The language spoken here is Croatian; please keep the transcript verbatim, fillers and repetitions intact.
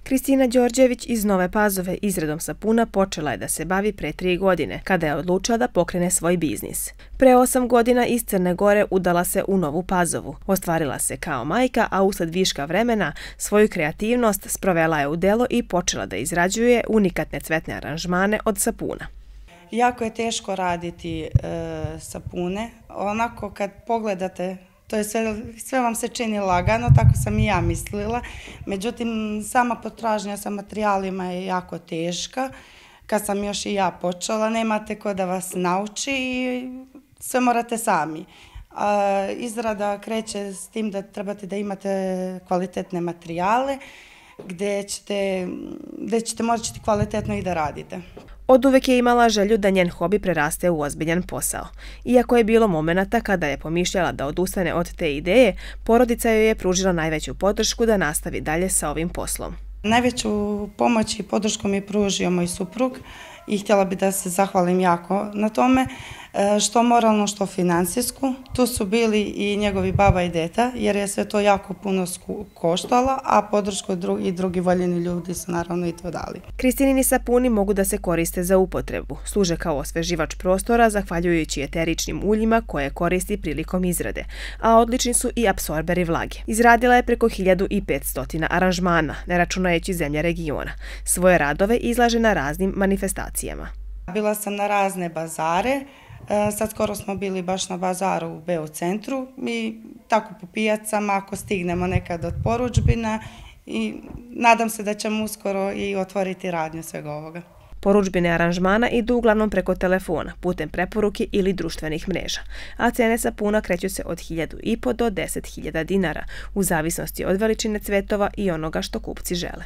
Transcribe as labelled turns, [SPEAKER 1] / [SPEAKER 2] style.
[SPEAKER 1] Kristina Đorđević iz Nove Pazove izradom sapuna počela je da se bavi pre tri godine, kada je odlučila da pokrene svoj biznis. Pre osam godina iz Crne Gore udala se u Novu Pazovu. Ostvarila se kao majka, a usled viška vremena svoju kreativnost sprovela je u delo i počela da izrađuje unikatne cvetne aranžmane od sapuna.
[SPEAKER 2] Jako je teško raditi e, sapune. Onako kad pogledate, to je sve, sve vam se čini lagano, tako sam i ja mislila. Međutim, sama potražnja sa materijalima je jako teška. Kad sam još i ja počela, nemate ko da vas nauči i sve morate sami. A, izrada kreće s tim da trebate da imate kvalitetne materijale, gdje ćete, gdje ćete moći kvalitetno i da radite.
[SPEAKER 1] Od uvek je imala želju da njen hobi preraste u ozbiljan posao. Iako je bilo momenata kada je pomišljala da odustane od te ideje, porodica joj je pružila najveću podršku da nastavi dalje sa ovim poslom.
[SPEAKER 2] Najveću pomoć i podršku mi je pružio moj suprug i htjela bi da se zahvalim jako na tome, što moralno, što finansijsku. Tu su bili i njegovi baba i deta, jer je sve to jako puno koštala, a podršku i drugi voljeni ljudi su naravno i to dali.
[SPEAKER 1] Kristinini sapuni mogu da se koriste za upotrebu. Služe kao osveživač prostora, zahvaljujući eteričnim uljima koje koristi prilikom izrade, a odlični su i apsorberi vlage. Izradila je preko hiljadu petsto aranžmana, ne računajući zemlje regiona. Svoje radove izlaže na raznim manifestacijama.
[SPEAKER 2] Bila sam na razne bazare. Sad skoro smo bili baš na bazaru u Beo centru i tako po pijacama ako stignemo nekad od porudžbina i nadam se da ćemo uskoro i otvoriti radnju svega ovoga.
[SPEAKER 1] Porudžbine aranžmana idu uglavnom preko telefona, putem preporuke ili društvenih mreža, a cene sapuna kreću se od hiljadu i po do deset hiljada dinara, u zavisnosti od veličine cvetova i onoga što kupci žele.